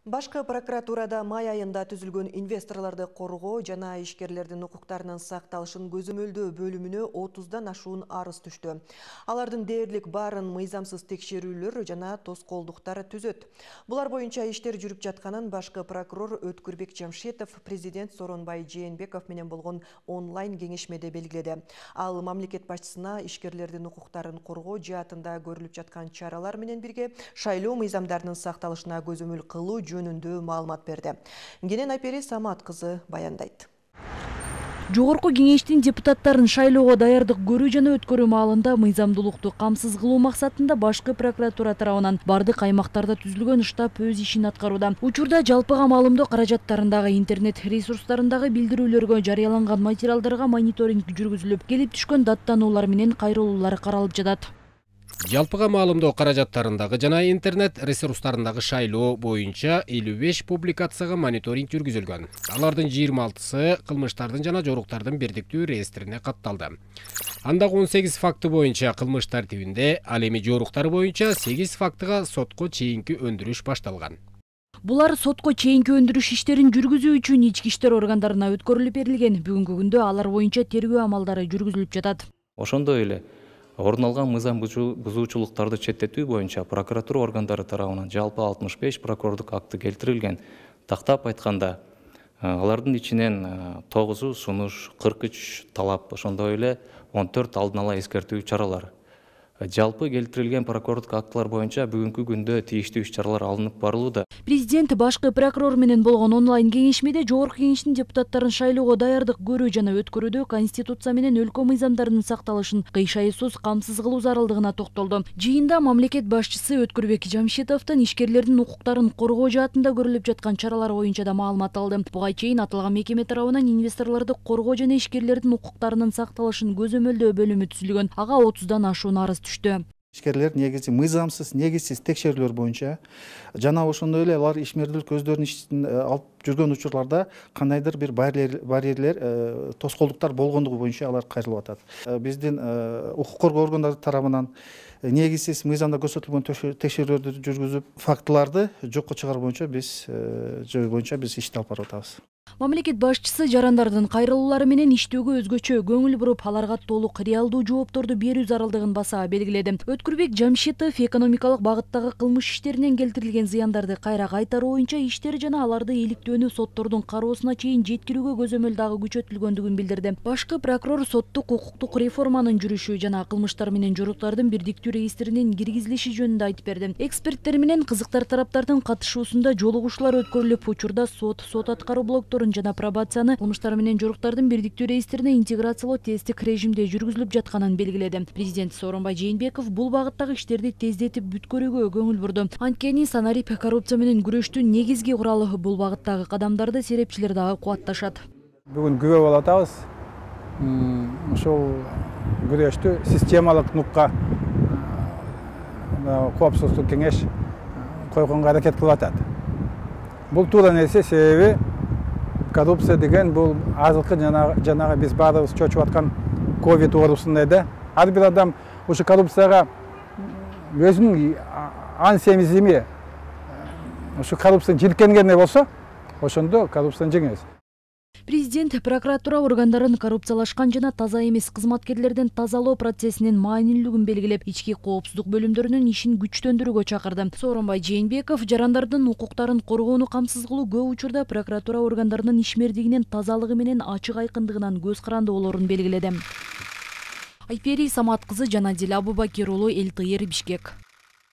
Башкы прокуратурада май айында түзүлгөн инвесторлорду коргоо жана ишкерлердин укуктарынын сакталышын көзөмөлдөө бөлүмүнө 30дан ашуун арыз түштү. Алардын дээрлик баарын мыйзамсыз текшерүүлөр жана тоскоолдуктар түзөт. Булар боюнча иштер жүрүп жатканын башкы прокурор Өткүрбек Жамшитов президент Сооронбай Жээнбеков менен болгон онлайн кеңешмеде белгиледи. Ал мамлекет башчысына ишкерлердин укуктарын коргоо жаатында көрүлүп жаткан чаралар менен бирге шайлоо мыйзамдарынын сакталышына көзөмөл кылуу жөнүндө маалымат берди. Кенен Айпери Самат кызы баяндайт. Жогорку кеңештин депутаттарын шайлоого даярдык көрүү жана өткөрүү маалында мыйзамдуулукту камсыз кылуу максатында башкы прокуратура тарабынан бардык аймактарда түзүлгөн штаб өз ишин аткарууда. Учурда жалпыга маалымдоо каражаттарындагы интернет ресурстарындагы билдирүүлөргө жарыяланган материалдарга мониторинг жүргүзүлүп, келип түшкөн даттануулар менен кайрылуулар каралып жатат. Жалпыга маалымдоо каражаттарындагы жана интернет ресурстарындагы шайлоо боюнча 55 публикацияга мониторинг жүргүзүлгөн. Алардын 26сы кылмыштардын жана жоруктардын бирдиктүү реестрине катталды. Андагы 18 факты боюнча кылмыш тартибинде, ал эми жоруктар боюнча 8 фактыга сотко чейинки өндүрүш башталган. Булар сотко чейинки өндүрүш иштерин жүргүзүү үчүн ички иштер органдарына өткөрүлүп берилген. Бүгүнкү күндө алар боюнча тергөө амалдары жүргүзүлүп жатат. Ошондой эле орун алган мыйзам бузуучулуктарды четтетүү боюнча прокуратура органдары тарабынан жалпы 65 прокурордук акты келтирилген. Тактап айтканда, алардын ичинен 9 сунуш, 43 талап, ошондой эле 14 алдын ала эскертүү чаралар. Жалпы келтирилген прокурордук актылар боюнча бүгүнкү күндө тийиштүү иш-чаралар алынып барылууда. Президент башкы прокурор менен болгон онлайн кеңешмеде жогорку кеңештин депутаттарын шайлоого даярдык көрүү жана өткөрүүдө Конституция менен өлкө мыйзамдарынын сакталышын кыйшайсыз камсыз кылуу зарылдыгына токтолду. Жыйында мамлекет башчысы Өткүрбек Жамшитовдун ишкерлердин укуктарын коргоо жаатында көрүлүп жаткан чаралар боюнча да маалымат алды. Буга чейин аталган мекеме тарабынан инвесторлорду коргоо жана ишкерлердин укуктарынын сакталышын көзөмөлдөө бөлүмү түзүлгөн. Ага 30дан ашуун арыз түштү. Ишкерлер негизи мыйзамсыз, негизсиз текшерүүлөр боюнча жана ошондой эле алар ишмердүүлүк өздөрүнүн ишин алып жүргөн учурларда кандайдыр бир барьерлер, тоскоолдуктар болгондугу боюнча алар кайрылып атат. Биздин укук коргоо органдары тарабынан негизсиз мыйзамда көрсөтүлгөн текшерүүлөрдү жүргүзүп, фактыларды жокко чыгаруу боюнча биз ишти алып барып атабыз. Мамлекет башчысы жарандардын кайрылуулары менен иштөөгө өзгөчө көңүл буруп, аларга толук реалдуу жоопторду берүү зарылдыгын баса белгиледи. Өткүрбек Жамшитов экономикалык багыттагы кылмыш иштеринен келтирилген зыяндарды кайра кайтаруу боюнча иштер жана аларды иликтөөнү соттордун кароосуна чейин жеткирүүгө көзөмөл дагы күчөтүлгөндүгүн билдирди. Башкы прокурор соттук укуктук реформанын жүрүшү жана кылмыштар менен жоруктардын бирдиктүү реестринин киргизилиши жөнүндө айтып берди. Эксперттер менен кызыктар тараптардын катышуусунда жолугушуулар өткөрүлүп, учурда сот аткаруу блокторун жана пробацияны кылмыштар менен жоруктардын бирдиктүү реестрине интеграциялоо тесттик режимде жүргүзүлүп жатканын белгиледи. Президент Сооронбай Жээнбеков бул багыттагы иштерди тездетип бүткөрүүгө көңүл бурду. Анткени санарип коррупция менен күрөштүн негизги куралы бул багыттагы кадамдарды серепчилер дагы кубатташат. Бүгүн күбө болуп атабыз. Ушул күрөштү системалык нукка коопсуздук кеңеш койгонго аракет кылып атат. Бул туура нерсе, себеби коррупция деген бул азыркы жанагы биз баарыбыз чочуп аткан ковид оорусундай да. Ар бир адам ушу коррупцияга өзүнүн ан семизими ушу коррупцияны жилкенгене болсо, ошондо коррупцияны жеңебиз. Президент прокуратура органдарын коррупциялашкан жана таза эмес кызматкерлерден тазалоо процессинин маанилүүлүгүн белгилеп, ички коопсуздук бөлүмдөрүнүн ишин күчтөндүрүүгө чакырды. Сооронбай Жээнбеков жарандардын укуктарын коргоону камсыз кылуу көп учурда прокуратура органдарынын ишмердигинин тазалыгы менен ачык айкындыгынан көз каранды болоорун белгиледи. Айпери Самат кызы, Жанадил Абубакир уулу, эл ТР, Бишкек.